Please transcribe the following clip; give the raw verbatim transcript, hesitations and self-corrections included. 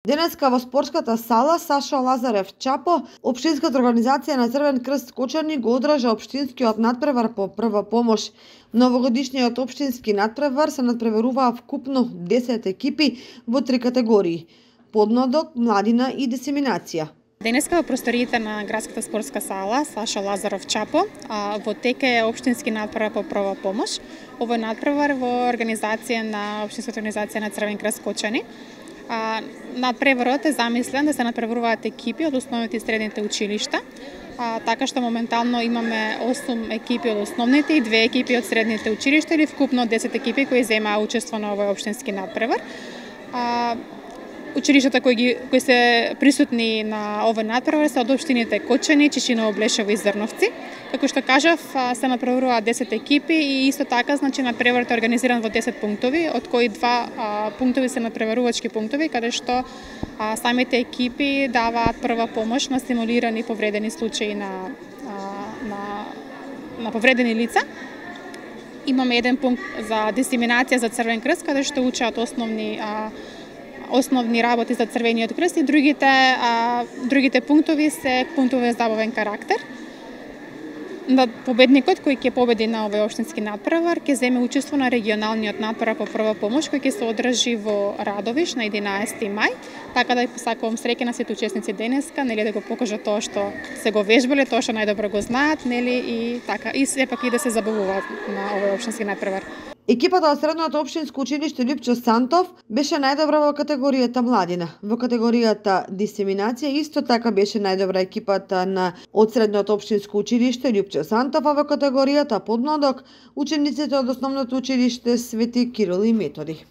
Денеска во спортската сала Сашо Лазарев Чапо, Општинската организација на Црвен крст Кочани го одржа општинскиот надпревар по прва помош. Новогодишниот општински надпревар се надпреваруваа вкупно десет екипи во три категории: подмладок, младина и дисеминација. Денеска во просториите на градската спортска сала Сашо Лазарев Чапо во тека е општински надпревар по прва помош. Овој надпревар во организација на Општинската организација на Црвен крст Кочани. Надпреварот е замислен да се надпреваруваат екипи од основните и средните училишта, а, така што моментално имаме осум екипи од основните и две екипи од средните училишта, или вкупно десет екипи кои земаа учество на овој општински надпревар. А, Училиштата кои, ги, кои се присутни на овој надпревар се од општините Кочани, Чичиново, Блешево и Зрновци. Како што кажав, се надпреваруваат десет екипи и исто така, значи, надпреварот е организиран во десет пунктови, од кои два а, пунктови се надпреварувачки пунктови, каде што а, самите екипи даваат прва помош на стимулирани повредени случаи на, а, на, на повредени лица. Имаме еден пункт за дисеминација за Црвен крст, каде што учат основни а, основни работи за Црвениот крст, и другите а, другите пунктови се пунктови за забавен карактер. На победникот кој ќе победи на овој општински надпревар ќе земе учество на регионалниот надпревар по прва помош кој ќе се одржи во Радовиш на единаесети мај. Така да посакувам среќа на сите учесници денеска, нели, да го покажат тоа што се го вежбале, тоа што најдобро го знаат, нели, и така и сепак и да се забавуваат на овој општински надпревар. Екипата од средното општинско училиште Лјупчо Сантов беше најдобра во категоријата младина. Во категоријата дисеминација исто така беше најдобра екипата на од средното општинско училиште Лјупчо Сантов, а во категоријата подмладок учениците од основното училиште Свети Кирил и Методи.